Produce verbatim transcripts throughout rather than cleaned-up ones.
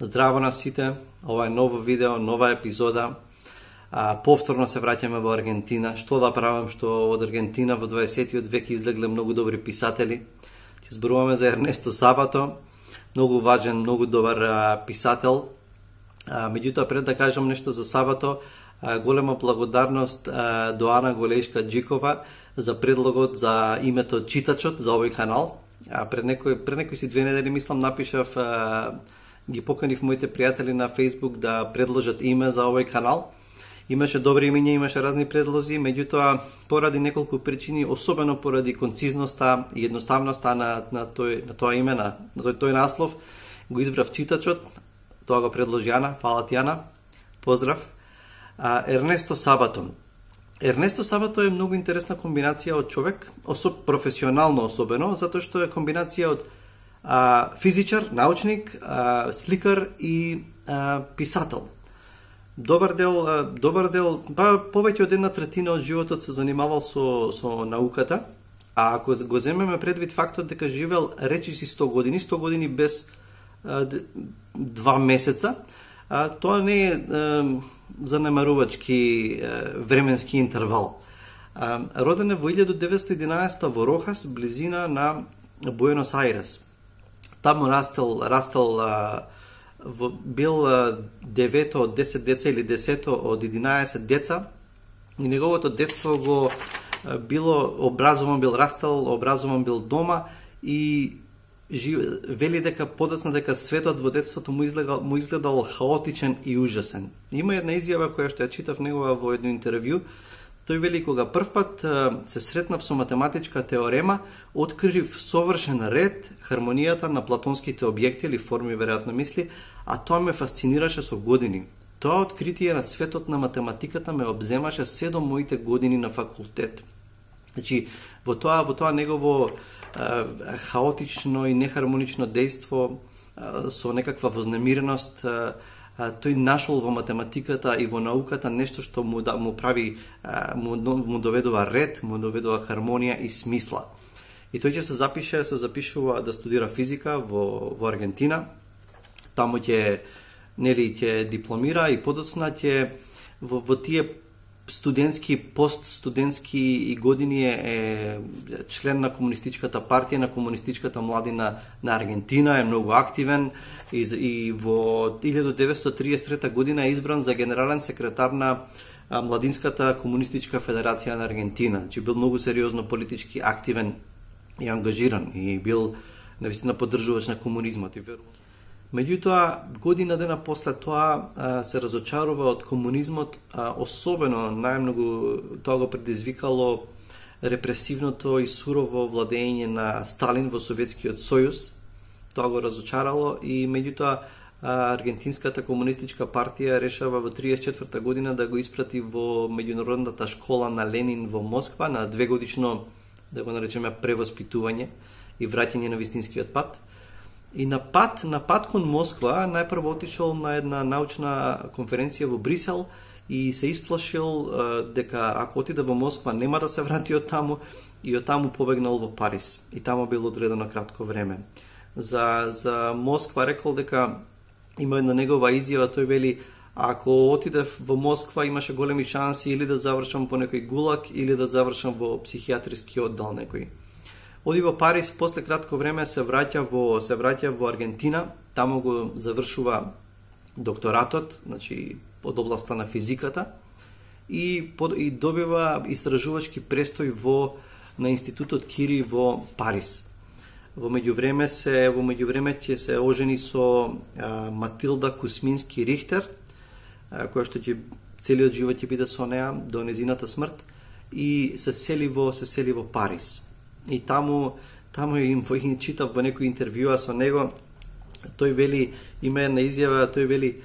Здраво на сите, ова е ново видео, нова епизода. А, повторно се враќаме во Аргентина. Што да правам, што од Аргентина во дваесеттиот век излегле многу добри писатели. Ќе зборуваме за Ернесто Сабато, многу важен, многу добар а, писател. А, меѓутоа, пред да кажам нешто за Сабато, а, голема благодарност а, до Ана Голешка-Джикова за предлогот за името Читачот за овој канал. А, пред некој пред некој си две недели мислам напишав, а, ги поканив моите пријатели на Facebook да предложат име за овој канал. Имаше добри имиња, имаше разни предлози, меѓутоа поради неколку причини, особено поради концизноста и едноставноста на на тој на тоа име, на, на тој, тој наслов, го избрав Читачот. Тоа го предложи Ана, фала ти Ана. Поздрав. А, Ернесто Сабато. Ернесто Сабато е многу интересна комбинација од човек, особ професионално особено, затоа што е комбинација од а, физичар, научник, а, сликар и а, писател. Добар дел, а, добар дел, па повеќе од една третина од животот се занимавал со со науката, а ако го земеме предвид фактот дека живел речиси сто години, сто години без а, два месеца, а, тоа не е а, занемарувачки а, временски интервал. А, роден е во илјада деветстотини и единаесета во Рохас, близина на Буенос Ајрес. Таму растел, растел а, во, бил а, девето од десет деца или десето од единаесет деца и неговото детство го а, било образован, бил растел, образован бил дома и жив, вели дека подоцна дека светот во детството му изгледал, му изгледал хаотичен и ужасен. Има една изјава која што ја читав негова во едно интервју. Тој вели, кога првпат се сретнав со математичка теорема, открив совршен ред, хармонијата на платонските објекти или форми, веројатно мисли, а тоа ме фасцинираше со години. Тоа откритие на светот на математиката ме обземаше седум моите години на факултет. Значи, во тоа, во тоа негово а, хаотично и нехармонично дејство а, со некаква вознемиреност, а, тој нашол во математиката и во науката нешто што му да му прави му, му доведува ред, му доведува хармонија и смисла. И тој ќе се запише, се запишува да студира физика во во Аргентина. Таму ќе нели ќе дипломира и подоцна ќе во, во тие студентски, постстудентски години е член на комунистичката партија, на комунистичката младина на Аргентина, е многу активен и, и во илјада деветстотини триесет и трета година е избран за генерален секретар на Младинската комунистичка федерација на Аргентина. Значи бил многу сериозно политички активен и ангажиран и бил навистина поддржувач на комунизмот и верувам. Меѓутоа, година дена после тоа а, се разочарува од комунизмот, а, особено најмногу тоа го предизвикало репресивното и сурово владење на Сталин во Советскиот сојуз. Тоа го разочарало и меѓутоа Аргентинската комунистичка партија решава во триесет и четврта година да го испрати во меѓународната школа на Ленин во Москва на двегодишно, да го наречеме, превоспитување и враќање на вистинскиот пат. И на пат, на пат кон Москва, најпрво отишол на една научна конференција во Брисел и се исплашил дека ако отиде во Москва нема да се врати од таму и од таму побегнал во Париз. И таму бил одредено кратко време. За, за Москва рекол дека има една негова изјава, тој вели, ако отидев во Москва имаше големи шанси или да завршам по некој гулак или да завршам во психијатриски оддел некој. Оди во Париз, после кратко време се враќа во се враќа во Аргентина, таму го завршува докторатот, значи од областа на физиката и под, и добива истражувачки престој во на институтот Кири во Париз. Во меѓувреме се во меѓувреме ќе се ожени со а, Матилда Кусмински Рихтер, а, која што ќе целиот живот ќе биде со неа до незината смрт и се сели во се сели во Париз. И таму, таму им во читав во некој интервјуа со него, тој вели, има една изјава, тој вели,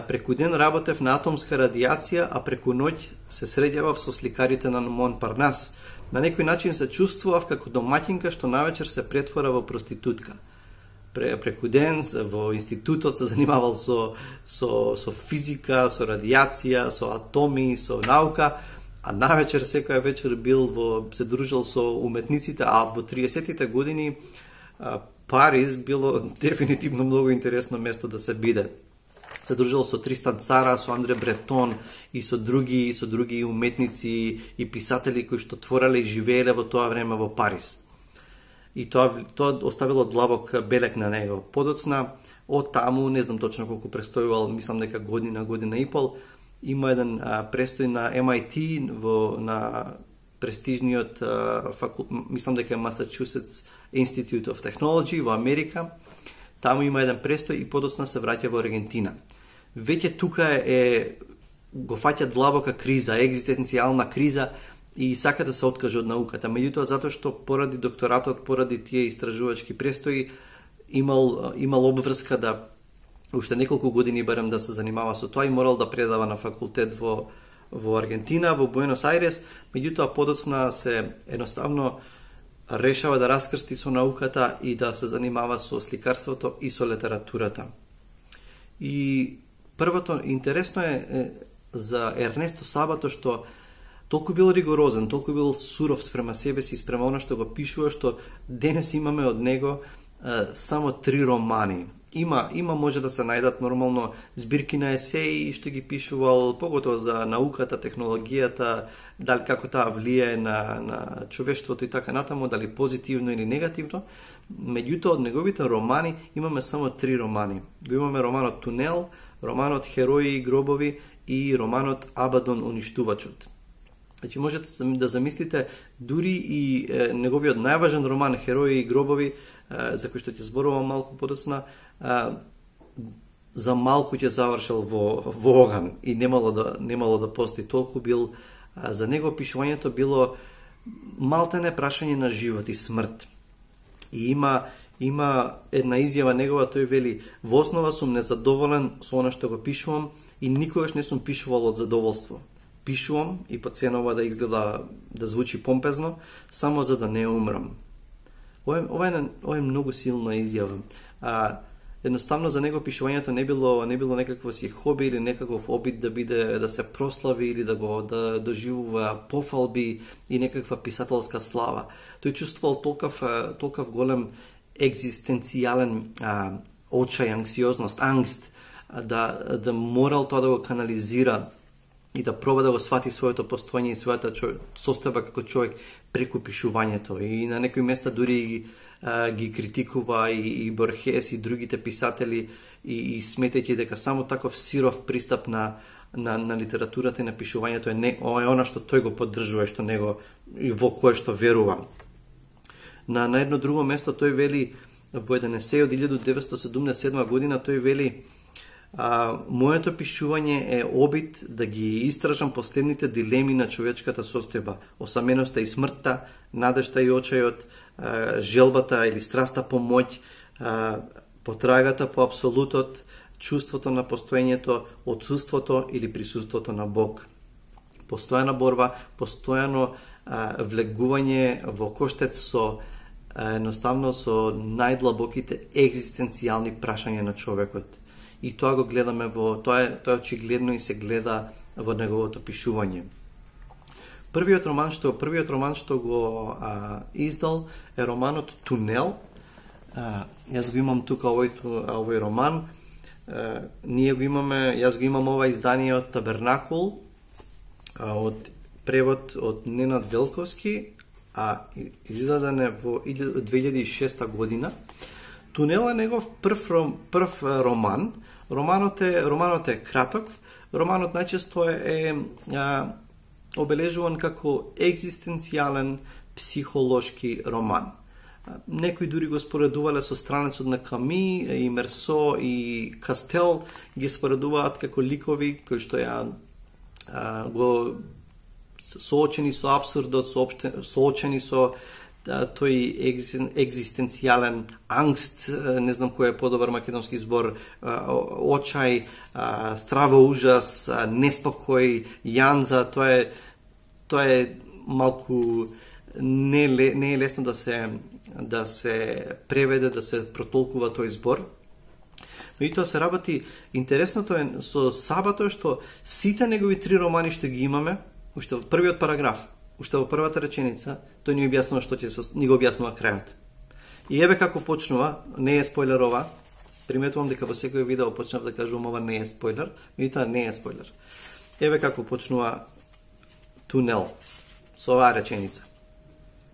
преку ден работев на атомска радијација, а преку ноќ се среќавав со сликарите на Монпарнас. На некој начин се чувствував како домаќинка што навечер се претвора во проститутка. Преку ден во институтот се занимавал со, со, со физика, со радијација, со атоми, со наука, а навечер секоја вечер бил во се дружел со уметниците, а во триесеттите години Париз било дефинитивно многу интересно место да се биде. Се дружил со Тристан Цара, со Андре Бретон и со други, со други уметници и писатели кои што твореле и живееле во тоа време во Париз. И тоа, тоа оставило длабок белег на него. Подоцна, од таму, не знам точно колку престојувал, мислам дека година, година и пол, има еден а, престој на Ем Ај Ти, во, на престижниот а, факул... мислам дека е Massachusetts Institute of Technology во Америка. Таму има еден престој и подоцна се враќа во Аргентина. Веќе тука е, го фаќа длабока криза, екзистенцијална криза и сака да се откаже од науката. Меѓутоа, затоа што поради докторатот, поради тие истражувачки престои, имал, имал обврска да уште неколку години барем да се занимава со тоа и морал да предава на факултет во, во Аргентина, во Буенос Ајрес. Меѓутоа, подоцна се едноставно решава да раскрсти со науката и да се занимава со сликарството и со литературата. И првото интересно е, е за Ернесто Сабато што толку бил ригорозен, толку бил суров спрема себе си, спрема оно што го пишува, што денес имаме од него е, само три романи. Има, има може да се најдат нормално збирки на есеи што ги пишувал, поготово за науката, технологијата, дали како таа влијае на, на човештвото и така натаму, дали позитивно или негативно. Меѓутоа, од неговите романи имаме само три романи. Го имаме романот Тунел, романот Херои и гробови и романот Абадон уништувачот. Значи, можете да замислите, дури и е, неговиот најважен роман Херои и гробови, е, за кој што ќе зборувам малку подоцна, е, за малку ќе завршил во, во оган и немало да, немало да постои толку бил. Е, за него пишувањето било малтене прашање на живот и смрт. И има има една изјава негова, тој вели: во основа сум незадоволен со она што го пишувам и никогаш не сум пишувал од задоволство. Пишувам и по ценова да изгледа, да звучи помпезно, само за да не умрам. Ова е, ова е, ова е многу силна изјава. А, едноставно за него пишувањето не било не било некакво си хоби или некаков обид да биде да се прослави или да го да доживува пофалби и некаква писателска слава. Тој чувствувал толкав толкав голем екзистенцијален а, очај, анксиозност, ангст, да да морал тоа да го канализира и да проба да го свати своето постоење и својата состојба како човек преку пишувањето. И на некои места дури а, ги критикува и, и Борхес и другите писатели и, и сметајќи дека само таков сиров пристап на, на, на литературата и на пишувањето е, не, е она што тој го поддржува, што него и во кое што верува. На, на едно друго место тој вели во еден есеј од илјадум деветстотини седумдесет и седма година, тој вели: А, моето пишување е обид да ги истражам последните дилеми на човечката состојба, осаменоста и смртта, надежта и очајот, а, желбата или страста по моќ, а, потрагата по апсолутот, чувството на постоењето, отсуството или присуството на Бог. Постојана борба, постојано а, влегување во коштец со а, едноставно со најдлабоките екзистенцијални прашања на човекот. И тоа го гледаме во тоа е тоа очигледно и се гледа во неговото пишување. Првиот роман што првиот роман што го а, издал е романот Тунел. А, јас го имам тука овој овој роман. А, ние го имаме, јас го имам ова издание од Табернакул, а, од превод од Ненад Велковски, а издаден е во две илјади и шеста година. Тунел е негов прв прв роман. Романот е романот е краток. Романот најчесто е, е а, обележуван како екзистенцијален психолошки роман. А, некои дури го споредувале со странецот на Ками и Мерсо и Кастел, ги споредуваат како ликови кои што ја а, го соочени со апсурдот, соочени со тој екзистенцијален ангст, не знам кој е подобар македонски збор, очај, страво ужас, неспокој, јанза, тоа е тоа е малку не, не е лесно да се да се преведе, да се протолкува тој збор. Но и тоа се работи. Интересното е со Сабато што сите негови три романи што ги имаме, уште во првиот параграф, уште во првата реченица, тој ни објаснува што ќе се, ни го објаснува крајот. И еве како почнува, не е спойлер ова. Приметувам дека во секој видео почнав да кажувам ова не е спойлер, меѓутоа не е спойлер. Еве како почнува Тунел со оваа реченица.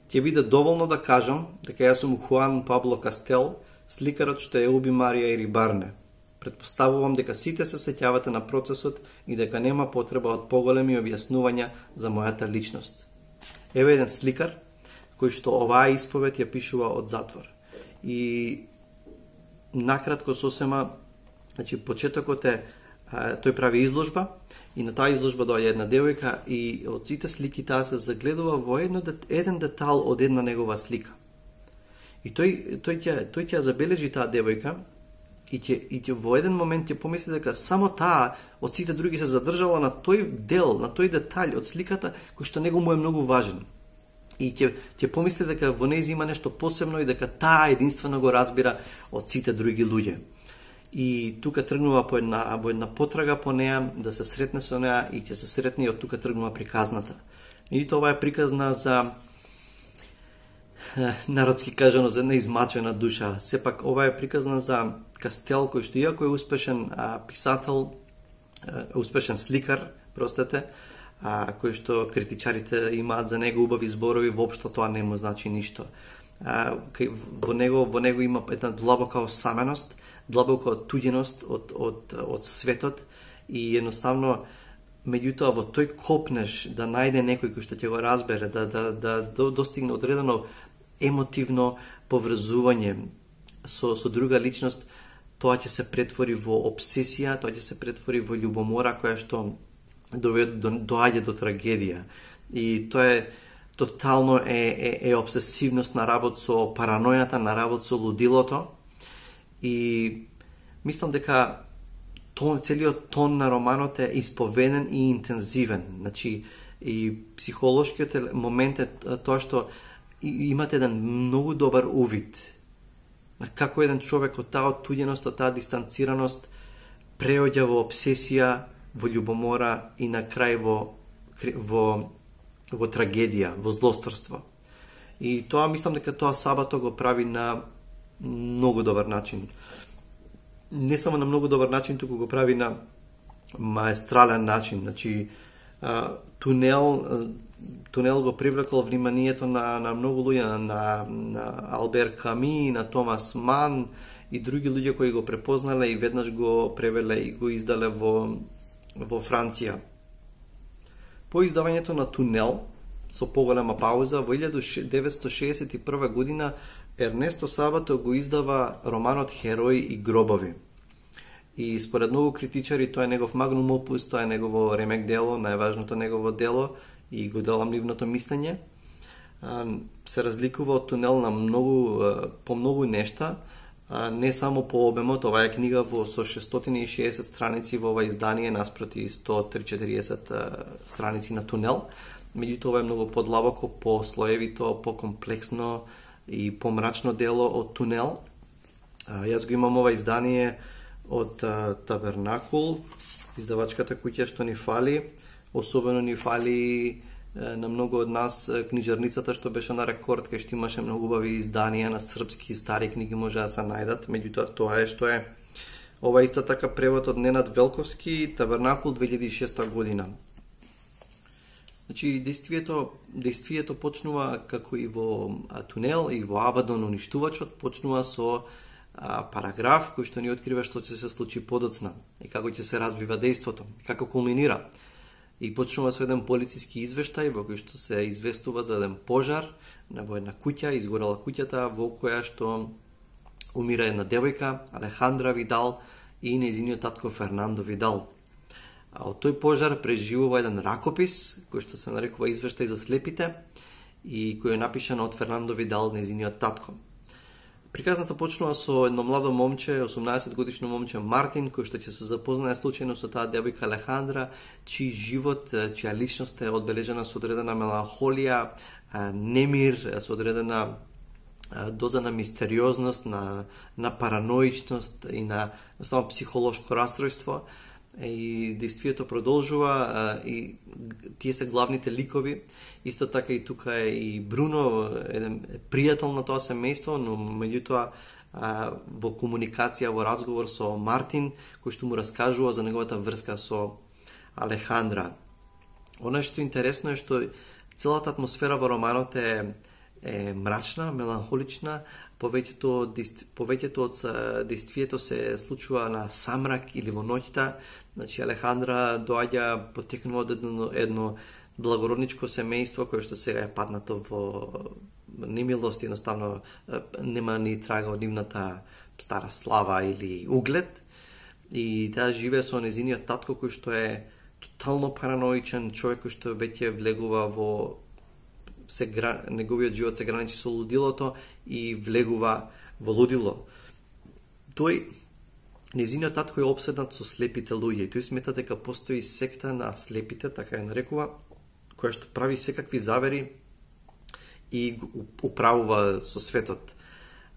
Ќе биде доволно да кажам дека јас сум Хуан Пабло Кастел, сликарот што ја уби Марија Ирибарне. Предпоставувам дека сите се сеќавате на процесот и дека нема потреба од поголеми објаснувања за мојата личност. Еве еден сликар кој што оваа исповед ја пишува од затвор. И накратко сосема, значи почетокот е, а, тој прави изложба и на таа изложба доаѓа една девојка и од сите слики таа се загледува во едно, еден детал од една негова слика. И тој тој ќе тој ќе забележи таа девојка и ќе и ќе во еден момент ќе помисли дека само таа од сите други се задржала на тој дел, на тој детаљ од сликата кој што него му е многу важен. И ќе ќе помисли дека во нејзе има нешто посебно и дека таа единствено го разбира од сите други луѓе. И тука тргнува по една, по една потрага по неа, да се сретне со неа и ќе се сретне и од тука тргнува приказната. И тоа е приказна за народски кажано за една измачена душа. Сепак ова е приказна за Кастел кој што иако е успешен а, писател, а, успешен сликар, простете, а, кој што критичарите имаат за него убави зборови, воопшто тоа не му значи ништо. А, кај, во него во него има една длабока осаменост, длабока туѓеност од од од светот и едноставно меѓутоа во тој копнеш да најде некој кој што ќе го разбере, да да да, да достигне одредено емотивно поврзување со со друга личност, тоа ќе се претвори во обсесија, тоа ќе се претвори во љубомора која што доведе до, доаѓа до трагедија. И тоа е тотално е, е, е обсесивност на работ со паранојата, на работ со лудилото. И мислам дека тон, целиот тон на романот е исповеден и интензивен. Значи, и психолошкиот момент е тоа што имате еден многу добар увид на како еден човек од таа оттуѓеност, од таа дистанцираност преоѓа во обсесија, во љубомора и на крај во, во, во трагедија, во злосторство. И тоа мислам дека тоа Сабато го прави на многу добар начин. Не само на многу добар начин, туку го прави на маестрален начин. Значи, Тунел, Тунел го привлекол вниманието на, на многу луѓе, на, на Албер Ками, на Томас Ман и други луѓе кои го препознале и веднаш го превеле и го издале во, во Франција. По издавањето на Тунел, со поголема пауза, во илјада деветстотини шеесет и прва година Ернесто Сабато го издава романот Херои и гробови. И според многу критичари тоа е негов магнум опус, тоа е негово ремек дело, најважното негово дело и го делам нивното мислење. Се разликува од Тунел на многу, по многу нешта, не само по обемот. Ова е книга во со шестстотини и шеесет страници во ова издание наспроти сто триесет страници на Тунел. Меѓутоа ова е многу подлабоко, по-слоевито, по-комплексно и помрачно дело од Тунел. А, јас го имам ова издание од а, Табернакул, издавачката куќа што ни фали. Особено ни фали а, на многу од нас а, книжарницата што беше на рекорд, кај што имаше многу убави изданија на српски стари книги може да се најдат. Меѓутоа тоа е што е. Ова исто така превод од Ненад Велковски, Табернакул две илјади и шеста година. Значи, действието, действието почнува како и во а, Тунел и во Абадон уништувачот, почнува со а, параграф кој што ни открива што ќе се случи подоцна и како ќе се развива дејството, и како кулминира. И почнува со еден полициски извештај во кој што се известува за еден пожар во една куќа, изгорела куќата во која што умира една девојка, Алехандра Видал, и нејзиниот татко Фернандо Видал. А од тој пожар преживува еден ракопис, кој што се нарекува Извештај за слепите, и кој е напишан од Фернандо Видал, нејзиниот татко. Приказната почнува со едно младо момче, осумнаесет годишно момче Мартин, кој што ќе се запознае случајно со таа девојка Алехандра, чиј живот, чија личност е одбележена со одредена меланхолија, немир, со одредена доза на мистериозност, на, на параноичност и на само психолошко растројство. и действието продолжува и тие се главните ликови. Исто така и тука е и Бруно, еден пријател на тоа семејство, но меѓутоа во комуникација, во разговор со Мартин, кој што му раскажува за неговата врска со Алехандра. Она што интересно е што целата атмосфера во романот е, е мрачна, меланхолична, повеќето повеќето од действието се случува на самрак или во ноќта. Значи Алехандра доаѓа потекнува од едно, едно благородничко семејство кое што сега е паднато во немилост, едноставно нема ни трага од нивната стара слава или углед. И таа живее со незиниот татко кој што е тотално параноичен, човек кој што веќе влегува во се гра... неговиот живот се граничи со лудилото и влегува во лудило. Тој незиниот татко е обседнат со слепите луѓе и тој смета дека постои секта на слепите, така ја нарекува, која што прави секакви завери и управува со светот.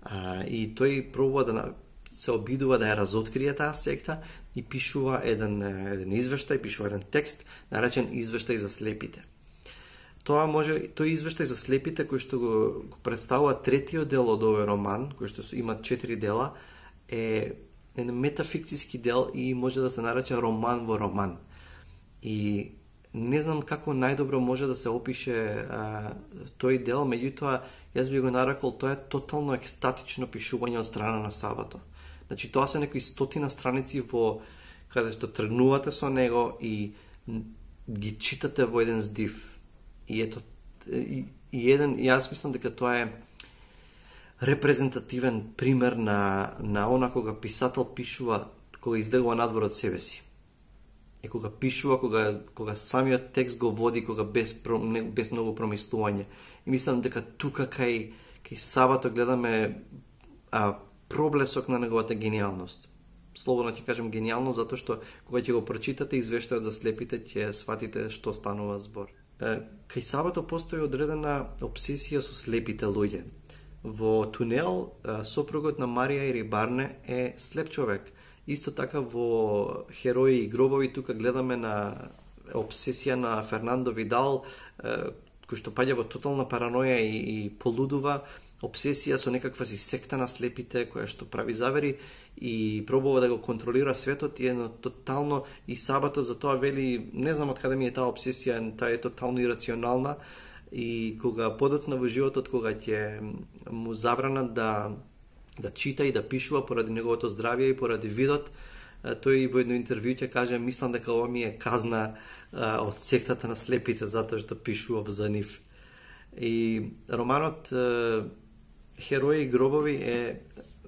А, и тој пробува да се обидува да ја разоткрие таа секта и пишува еден, еден извештај, пишува еден текст, наречен Извештај за слепите. Тоа може, тој извештај за слепите, кој што го, го представува третиот дел од овој роман, кој што има четири дела, е еден метафикциски дел и може да се нарече роман во роман. И не знам како најдобро може да се опише а, тој дел, меѓутоа јас би го нарекол тоа е тотално екстатично пишување од страна на Сабато. Значи тоа се некои стотина страници во каде што тргнувате со него и ги читате во еден здив. И ето и, и еден јас мислам дека тоа е репрезентативен пример на на она кога писател пишува кога излегува надвор од себе си. И кога пишува, кога кога самиот текст го води, кога без без многу промислување. И мислам дека тука кај кај Сабато гледаме а, проблесок на неговата гениалност. Слободно ќе кажем гениално затоа што кога ќе го прочитате Извештајот за слепите ќе сватите што станува збор. Кај Сабато постои одредена обсесија со слепите луѓе. Во Тунел сопругот на Марија Ирибарне е слеп човек. Исто така во Херои и гробови тука гледаме на обсесија на Фернандо Видал, кој што паѓа во тотална параноја и, и полудува, обсесија со некаква си секта на слепите која што прави завери и пробува да го контролира светот и едно тотално и Сабато за тоа вели не знам од каде ми е таа обсесија, таа е тотално ирационална и кога подоцна во животот кога ќе му забранат да да чита и да пишува поради неговото здравје и поради видот, тој во едно интервју ќе каже мислам дека ова ми е казна а, од сектата на слепите затоа што пишував за нив. И романот Херои и гробови е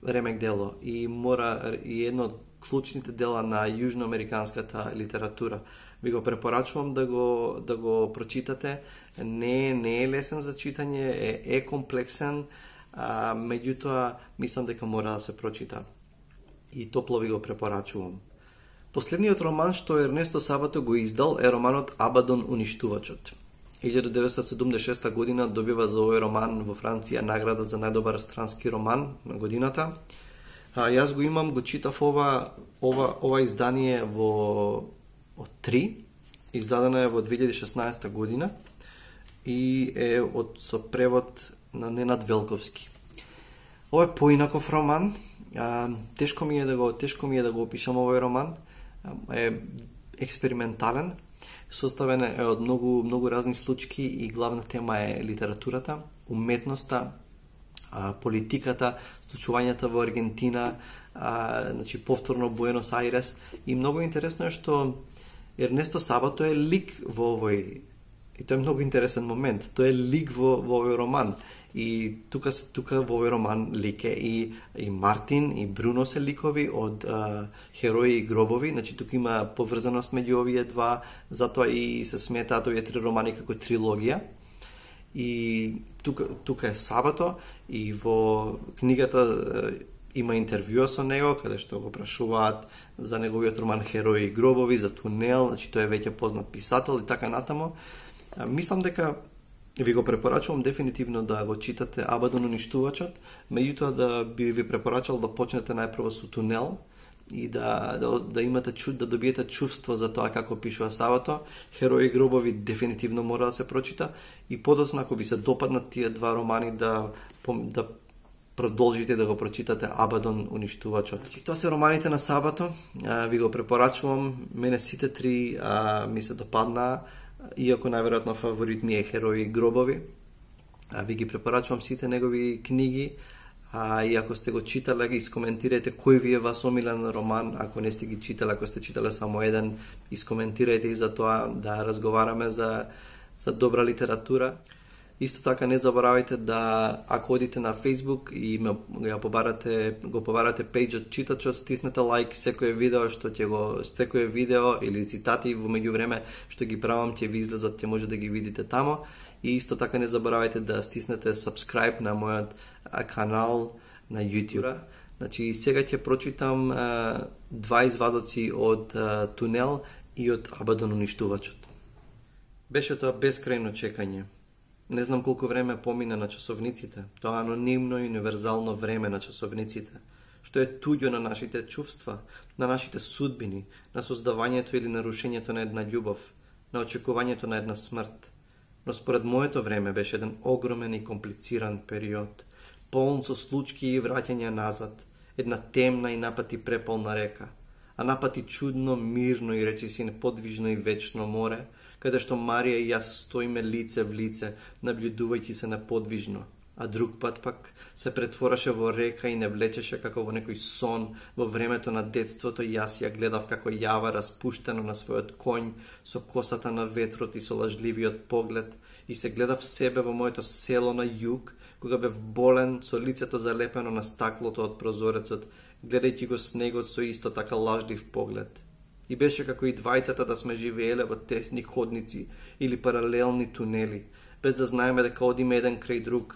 ремек дело и мора и едно од клучните дела на јужноамериканската литература. Ви го препорачувам да го да го прочитате. Не не е лесен за читање, е, е комплексен, а, меѓутоа мислам дека мора да се прочита. И топло ви го препорачувам. Последниот роман што Ернесто Сабато го издал е романот Абадон уништувачот. илјада деветстотини седумдесет и шеста година добива за овој роман во Франција награда за најдобар странски роман на годината. А, јас го имам, го читав ова, ова, ова издание во од три, издадено е во две илјади и шеснаесета година и е од со превод на Ненад Велковски. Ова е поинаков роман. А, тешко ми е да го тешко ми е да го опишам овој роман. А, е експериментален. Составен е од многу многу разни случки и главна тема е литературата, уметноста, а, политиката, случувањата во Аргентина, а, значи повторно Буенос Ајрес и многу интересно е што Ернесто Сабато е лик во овој и тоа е многу интересен момент. Тој е лик во во овој роман. И тука тука во овој роман лике и и Мартин и Бруно се ликови од а, Херои и гробови, значи тука има поврзаност меѓу овие два, затоа и се сметаат овие три романи како трилогија. И тука тука е Сабато и во книгата а, има интервјуа со него каде што го прашуваат за неговиот роман Херои и гробови, за Тунел, значи тој е веќе познат писател и така натаму. А, мислам дека ви го препорачувам дефинитивно да го читате Абадон уништувачот, меѓутоа да би ви препорачал да почнете најпрво со Тунел и да, да, да имате чуд, да добиете чувство за тоа како пишува Савато. Херои гробови дефинитивно мора да се прочита и подоцна ако ви се допаднат тие два романи да, да продолжите да го прочитате Абадон уништувачот. Значи, тоа се романите на Савато, а, ви го препорачувам. Мене сите три а, ми се допаднаа, иако најверојатно фаворит ми е Херои гробови. А, ви ги препорачувам сите негови книги. А, и ако сте го читале, ги искоментирајте кој ви е вас омилен роман. Ако не сте ги читале, ако сте читале само еден, искоментирајте и за тоа да разговараме за, за добра литература. Исто така не заборавајте да, ако одите на Facebook и ме, го побарате, го побарате пејджот читачот, стиснете лайк секое видео што ќе го секое видео или цитати во меѓувреме што ги правам ќе ви излезат, ќе може да ги видите тамо. И исто така не заборавајте да стиснете subscribe на мојот канал на YouTube. Значи сега ќе прочитам а, два извадоци од а, Тунел и од Абадон уништувачот. Беше тоа бескрајно чекање. Не знам колку време помина на часовниците, тоа анонимно и универзално време на часовниците, што е туѓо на нашите чувства, на нашите судбини, на создавањето или нарушењето на една љубов, на очекувањето на една смрт. Но според моето време беше еден огромен и комплициран период, полн со случки и враќања назад, една темна и напати преполна река, а напати чудно, мирно и речиси неподвижно и вечно море, каде што Марија и јас стоиме лице в лице, наблюдувајќи се неподвижно, а друг пат пак се претвораше во река и не влечеше како во некој сон. Во времето на детството јас ја гледав како јава распуштено на својот конј, со косата на ветрот и со лажливиот поглед, и се гледав себе во моето село на југ, кога бев болен, со лицето залепено на стаклото од прозорецот, гледајќи го снегот со исто така лажлив поглед. И беше како и двајцата да сме живееле во тесни ходници или паралелни тунели, без да знаеме дека одиме еден крај друг,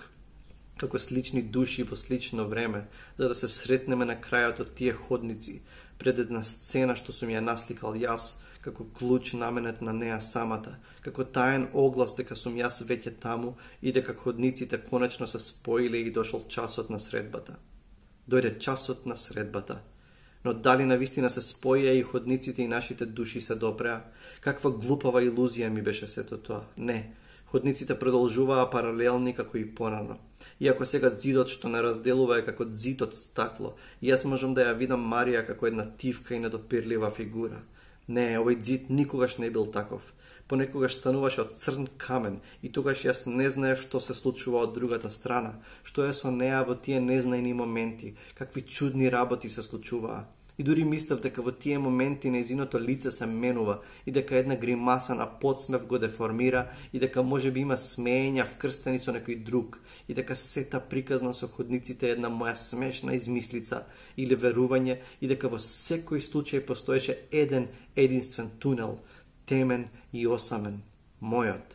како слични души во слично време, за да се сретнеме на крајот од тие ходници, пред една сцена што сум ја насликал јас, како клуч наменет на неа самата, како таен оглас дека сум јас веќе таму и дека ходниците конечно се споиле и дошол часот на средбата. Дојде часот на средбата. Но дали навистина се споија и ходниците и нашите души се допреа? Каква глупава илузија ми беше сето тоа? Не, ходниците продолжуваа паралелни како и порано. Иако сега зидот што не разделува е како зид од стакло, јас можам да ја видам Марија како една тивка и недопирлива фигура. Не, овој зид никогаш не бил таков. Понекогаш стануваше од црн камен и тогаш јас не знаев што се случува од другата страна, што е со неа во тие незнаени моменти, какви чудни работи се случуваа. И дури мислев дека во тие моменти нејзиното лице се менува и дека една гримаса на подсмев го деформира и дека може би има смеења вкрстени со некој друг и дека сета приказна со ходниците е една моја смешна измислица или верување и дека во секој случај постоеше еден единствен тунел, темен и осамен, мојот.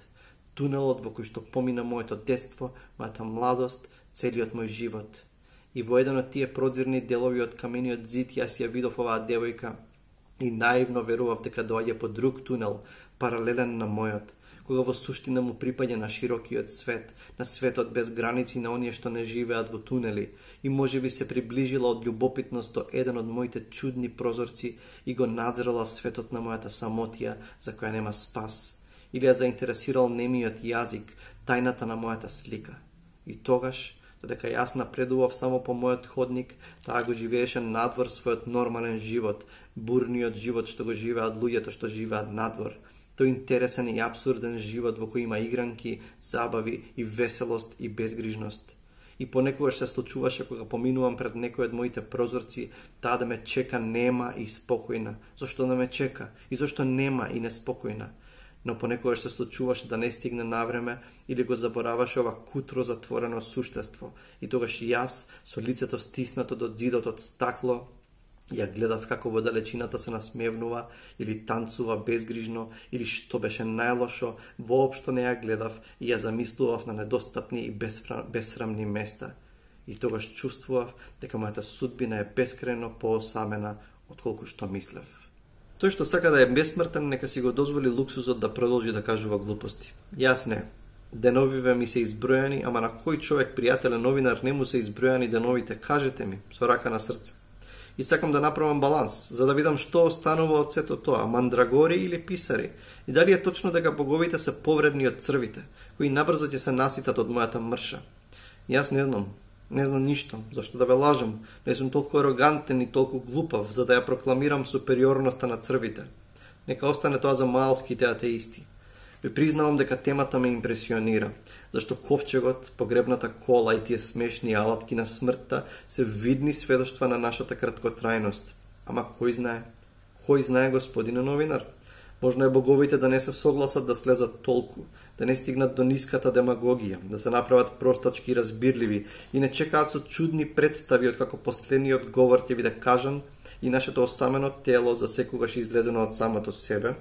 Тунелот во кој што помина моето детство, мојата младост, целиот мој живот. И во еден од тие прозирни делови од камениот зид јас ја видов оваа девојка и наивно верував дека доаѓа по друг тунел, паралелен на мојот, кога во суштина му припаѓа на широкиот свет, на светот без граници на оние што не живеат во тунели, и може би се приближила од љубопитност до еден од моите чудни прозорци и го надзрала светот на мојата самотија за која нема спас, или ја заинтересирал немиот јазик, тајната на мојата слика. И тогаш, додека јас напредував само по мојот ходник, таа го живееше надвор својот нормален живот, бурниот живот што го живеат луѓето што живеат надвор. Тој интересен и абсурден живот во кој има игранки, забави и веселост и безгрижност. И понекогаш се случуваше кога поминувам пред некој од моите прозорци, таа да ме чека нема и спокојна. Зошто да ме чека? И зошто нема и неспокојна? Но понекогаш се случуваше да не стигне навреме или го забораваше ова кутро затворено суштество. И тогаш јас, со лицето стиснато до зидот од стакло, ја гледав како во далечината се насмевнува или танцува безгрижно, или што беше најлошо, воопшто не ја гледав и ја замислував на недостапни и безсрамни места. И тогаш чувствував дека мојата судбина е бескрајно поосамена отколку што мислев. Тој што сака да е бесмртен, нека си го дозволи луксузот да продолжи да кажува глупости. Јас не. Деновиве ми се избројани, ама на кој човек, пријателе, новинар, не му се избројани деновите, кажете ми, со рака на срце. И сакам да направам баланс, за да видам што останува од сето тоа, мандрагори или писари, и дали е точно дека боговите се повредни од црвите, кои набрзо ќе се наситат од мојата мрша. Јас не знам, не знам ништо, зашто да ве лажам, не сум толку арогантен и толку глупав, за да ја прокламирам супериорноста на црвите. Нека остане тоа за малските атеисти. Ви признавам дека темата ме импресионира, зашто ковчегот, погребната кола и тие смешни алатки на смртта се видни сведоштва на нашата краткотрајност. Ама кој знае? Кој знае, господине новинар? Можно е боговите да не се согласат да слезат толку, да не стигнат до ниската демагогија, да се направат простачки и разбирливи и не чекаат со чудни представи од како последниот говор ќе биде кажан и нашето осамено тело за секогаш излезено од самото себе,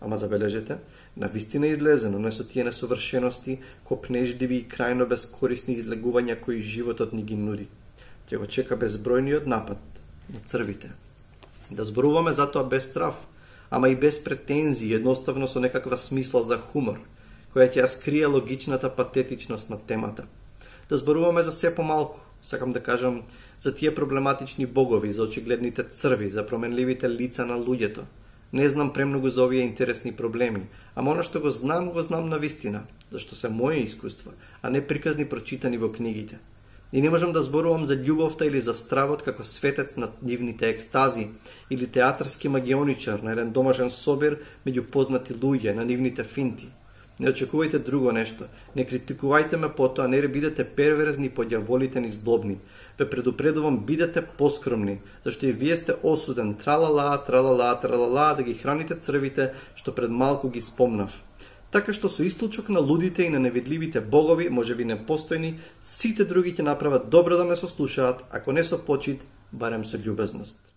ама забележете, на вистина излезено, не со тие несовршености, копнежливи и крајно безкорисни излегувања кои животот ни ги нуди. Ќе го чека безбројниот напад на црвите. Да зборуваме затоа без страв, ама и без претензии, едноставно со некаква смисла за хумор, која ќе ја скрие логичната патетичност на темата. Да зборуваме за се помалку, сакам да кажам, за тие проблематични богови, за очигледните црви, за променливите лица на луѓето. Не знам премногу за овие интересни проблеми, ама оно што го знам, го знам на вистина, зашто се мои искуства, а не приказни прочитани во книгите. И не можам да зборувам за љубовта или за стравот како светец на нивните екстази, или театарски магионичар на еден домашен собир меѓу познати луѓе на нивните финти. Не очекувајте друго нешто, не критикувајте ме потоа, не бидете перверзни, подјаволите ни злобни. Ве предупредувам, бидете поскромни, зашто и вие сте осуден тралала, тралала, тралала да ги храните црвите, што пред малку ги спомнав. Така што со исклучок на лудите и на невидливите богови, можеби непостојни, сите други ќе направат добро да ме сослушаат, ако не со почит, барем со љубезност.